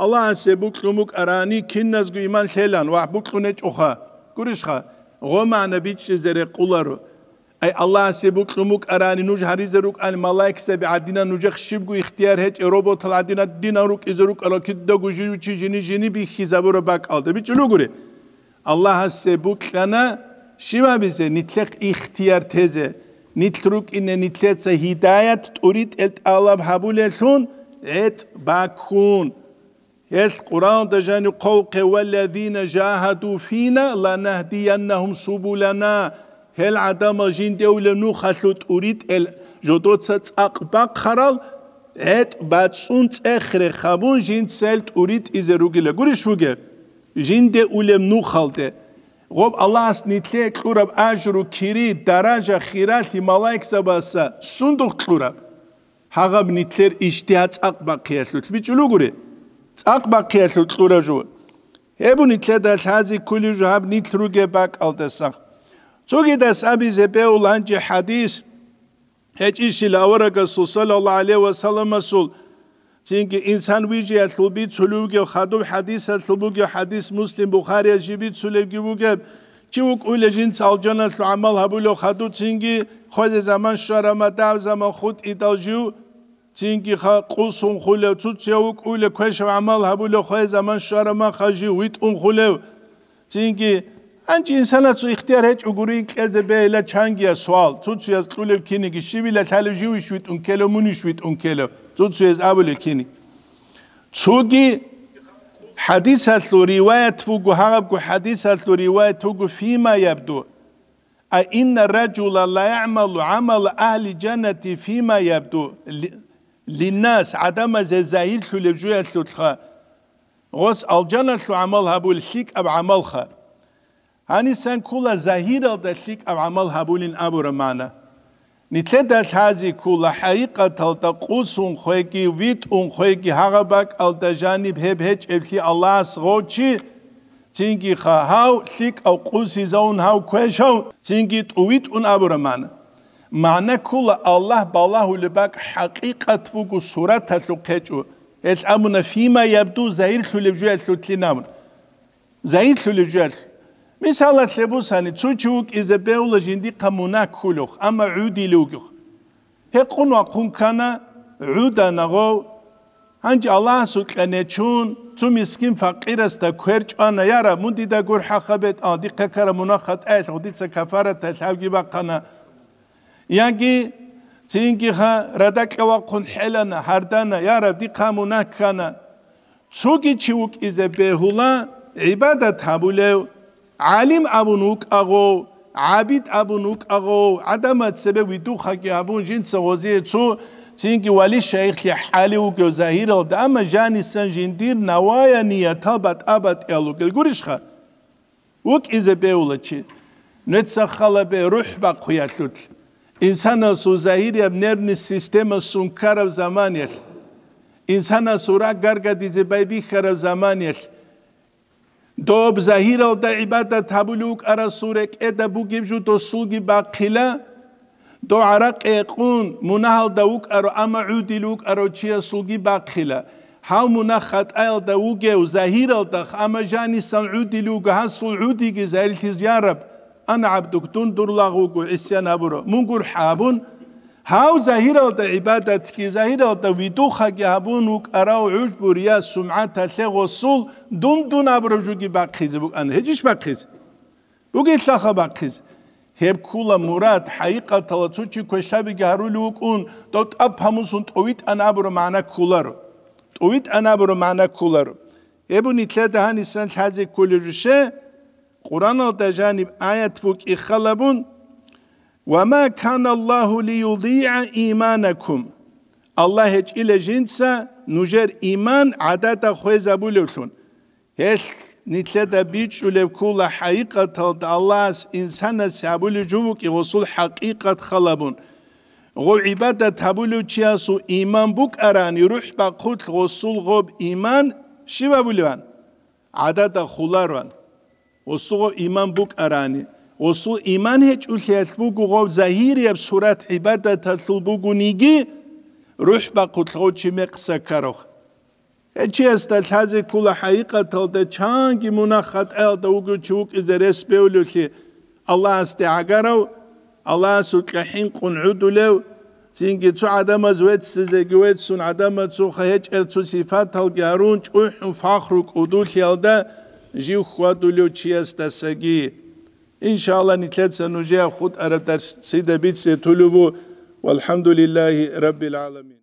Аллагьасе букьун букӀарани киназго иман лъелан ва букьун гьечӀоха. Гурищха? Гъо магӀна бичӀчӀизе рекъоларо. Ай, Аллагьасе букьун букӀарани нуж гьаризе рукӀани малаикзаби гӀадинан, нужехъ щибго ихтияр гьечӀеб роботал гӀадинан динан рукӀизе рукӀарал кидаго жив чи жини-жини бихьизабураб бакӀалда. БичӀулугури. Аллагьасе букьана щиб гьабизе? Нилъехъ ихтияр тезе. Нилъ рукӀине нилъеца гьидаят тӀуритӀел тӀалаб гьабулелъун гӀетӀ баккун. Гьелъ Къуръанда жанив хъвалухъе: «Валлазина жагьаду фина ланахдияннагьум субулана». Гьел гӀадамал жинде улеб нухалъул тӀуритӀел жодоца цӀакъ бахъарал гӀетӀ бацӀцӀун цӀех-рех гьабун, жинца гьел тӀуритӀизе ругила гурищ бугеб? Жинде улеб нухалде. Гъоб Аллагьас нилъее кьураб ажру, кири, даража, хиралъи малаикзабаса сундухъ кьураб? Гьагъаб нилъер ижтигьад цӀакъ бахъиялъулъ бичӀчӀулугури? ЦӀакъ бахъиялъулъ кьураб жо. Гьеб нилъеда лъази кколеб жо гьаб нилъ ругеб бакӀалдаса. Цогидас абизе бегьула гьанже хӀадис. ГьечӀищила аварагасул саллаллагьу гӀалайгьи ва салламасул, цинги инсан вижиялъул бицулев вугев хадуб хӀадисалъул бугев хӀадис Муслим, Бухарияс жиб бицулевги вугеб, чи вукӀуйла жинца алжаналъул гӀамал гьабулев хадуб, цинги хвезе заман щварама дагьаб заман хутӀидал жив, цинги ха къусун хулев, цуцияв вукӀуйла квешав гӀамал гьабулев хвезе заман щварама ха жив витӀун хулев, цинги, гьанже инсанасул ихтияр гьечӀо гури кьезе бегьила чангияс суал, цуцуяз кьулев киниги, щибила лъалев, живищ витӀун ккелев, мунищ витӀун ккелев, цуцуяз абулев киниги. Цоги хӀадисалъул риваят буго, гьабго хӀадисалъул риваят буго, фима ябду, а инна ражула ла ягӀмалу гӀамала агьли жаннати фима ябду ли-, линнас, гӀадамазе загьирлъулеб жоялъулъха, гъос алжаналъул гӀамал гьабул лъикӀаб гӀамалха. Гьанисан ккола загьиралда лъикӀаб гӀамал гьабулин абураб магӀна. Нилъеда лъази ккола хӀакъикъаталда къусун хвеги, витӀун хвеги гьагъаб бакӀалда жаниб гьеб гьечӀеблъи Аллагьас гъов чи, цинги ха гьав лъикӀав къусизавун гьав квешав, цинги тӀувитӀун абураб магӀна. МагӀна ккола Аллагь балагьулеб бакӀ хӀакъикъат буго, сураталъухъ гьечӀо. Гьелъ абуна, фима ябду, загьирлъулеб жоялъулъин абун. Загьирлъулеб жоялъ. Мисалалъе бусани, цо чи вукӀизе бегьула жиндихъа мунагь кколев, амма гӀудилев вугев. Гьекъун вахъун ккана, гӀудана гъов. Гьанже Аллагьасукьа нечун, цо мискин-факъирасда квер чӀвана: «Я Раб, мун дида гурхӀаха бетӀал, дихъа ккараб мунагь-хатӀаялъухъ дица кафараталъ гьавги бахъана». Яги цинги ха радакьа вахъун хӀелана, гьардана: «Я Раб, дихъа мунагь ккана». Цоги чи вукӀизе бегьула гӀибадат гьабулев, гӀалим абун вукӀа гъов, гӀабид абун вукӀа гъов, гӀадамаз цебе видухъаги гьабун, жинца гъозие цо цинги вали-шайихлъи хӀалев вугев загьиралда, амма жанисан жиндир навая ниятал батӀа-батӀиял вугел гурищха? ВукӀизе бегьула чи. Нуца халабе рухӀ бахъуялъулъ. Инсанасул загьирияб нервный система сункараб заманиялъ, инсанасул ракӀ гаргадизе байбихьараб заманиялъ, доб загьиралда гӀибадат гьабулев вукӀарасул рекӀеда бугеб жо досулги бахъила, дов гӀаракъи гьекъун, мунагьалда вукӀаро, амма гӀудил вукӀарав чиясулги бахъила. Гьав мунагь-хатӀаялда вугев загьиралда, амма жанисан гӀудил вуго, гьасул гӀудиги загьирлъиз: «Я Раб, ана гӀабдук, дун дур лагъ вуго, гӀисян гьабуро, мун гурхӀа», — абун, гьав загьиралда гӀибадатги, загьиралда видухъаги гьабун вукӀарав гӀужбу, рия, сумгӀаталъе гъосул дун-дун абураб жоги бахъизе букӀана. ГьечӀищ бахъизе? Бугелъаха бахъизе. Гьеб ккула мурад, хӀакъикъаталда цо чи квешлъабиги гьарулев вукӀун, дов тӀад гьамусун тӀовитӀана абураб магӀна кколаро. ТӀовитӀана абураб магӀна кколаро. Гьеб нилъеда гьанисан лъазе кколеб жо щай? Къуръаналда жаниб аят букӀи халабун: «Ва ма кана Аллагьу лиюдигӀа иманакум». Аллагь гьечӀила жинца нужер иман гӀадада хвезабулевлъун. Гьелъ нилъеда бичӀчӀулеб ккула хӀакъикъаталда Аллагьас инсанасе гьабулеб жо букӀи гъосул хӀакъикъат халабун. Гъов гӀибадат гьабулев чиясул иман букӀарани, рухӀ бахъулъ гъосул гъоб иман щиб абулеван? ГӀадада хулароан. Гъосул гъоб иман букӀарани, гъосул иман гьечӀулъиялъ буго гъов загьирияб сурат гӀибадаталъул бугониги, рухӀ бахъулъ гъов чи мекъса ккарав. Гьечиясда лъазе ккула хӀакъикъаталда чанги мунагь-хатӀаялда вугев чи вукӀизе рес бевлевлъи, Аллагьасде гӀагарав, Аллагьасукьа хӀинкъун гӀодулев, цинги цо гӀадамаз веццизеги веццун, гӀадамаз цоха гьечӀел цо сипаталги гьарун, чӀухӀун фахру кӀудулъиялда жив хьвадулев чиясдасаги. Иншалла, нилъеца нужее хутӀараб дарс цӀида бице тулеб буго. Валхамдулиллагьи раббил гӀаламин.